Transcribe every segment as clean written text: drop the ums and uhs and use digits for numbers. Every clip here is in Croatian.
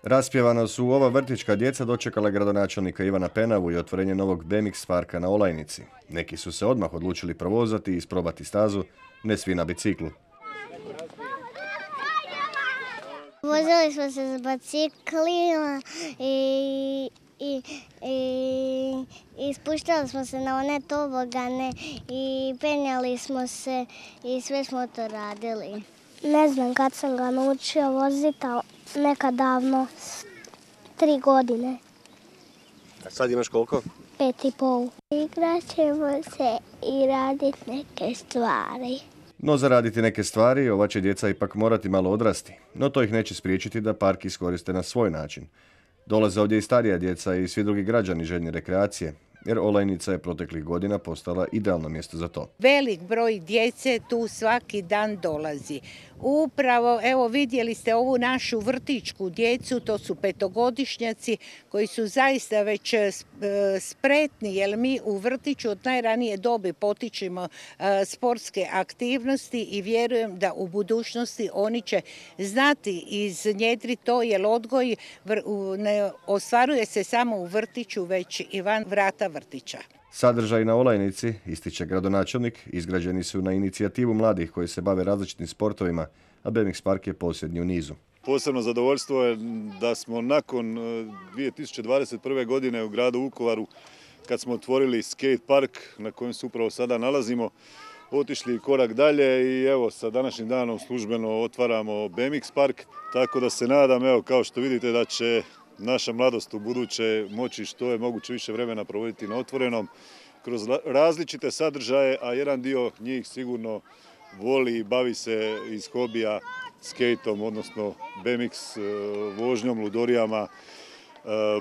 Raspjevano su ova vrtićka djeca dočekala gradonačelnika Ivana Penavu i otvorenje novog BMX parka na Olajnici. Neki su se odmah odlučili provozati i isprobati stazu, ne svi na biciklu. Vozili smo se s biciklima i spuštali smo se na one tobogane i penjali smo se i sve smo to radili. Ne znam kad sam ga naučio voziti, ali nekad davno, 3 godine. A sad imaš koliko? 5,5. Igrat ćemo se i raditi neke stvari. No za raditi neke stvari ova će djeca ipak morati malo odrasti, no to ih neće spriječiti da park iskoriste na svoj način. Dolaze ovdje i starija djeca i svi drugi građani željni rekreacije, jer Olajnica je proteklih godina postala idealno mjesto za to. Velik broj djece tu svaki dan dolazi. Upravo, evo vidjeli ste ovu našu vrtićku djecu, to su 5-godišnjaci koji su zaista već spretni, jer mi u vrtiću od najranije dobi potičemo sportske aktivnosti i vjerujem da u budućnosti oni će znati iznjedriti to, jer odgoj ne ostvaruje se samo u vrtiću, već i van vrata vrtića. Sadržaj na Olajnici, ističe gradonačelnik, izgrađeni su na inicijativu mladih koji se bave različitim sportovima, a BMX park je posljednji u nizu. Posebno zadovoljstvo je da smo nakon 2021. godine u gradu Vukovaru, kad smo otvorili skate park na kojem se upravo sada nalazimo, otišli korak dalje i evo sa današnjim danom službeno otvaramo BMX park, tako da se nadam, evo kao što vidite, da će naša mladost u buduće moći što je moguće više vremena provoditi na otvorenom kroz različite sadržaje, a jedan dio njih sigurno voli i bavi se iz hobija skejtom, odnosno BMX vožnjom, ludorijama,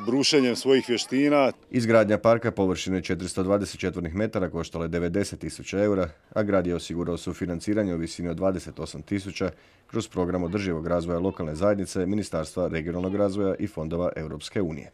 brušenjem svojih vještina. Izgradnja parka površine 420 četvornih metara koštala je 90.000 eura, a grad je osigurao sufinanciranje u visini od 28.000 kroz program održivog razvoja lokalne zajednice, Ministarstva regionalnog razvoja i fondova Europske unije.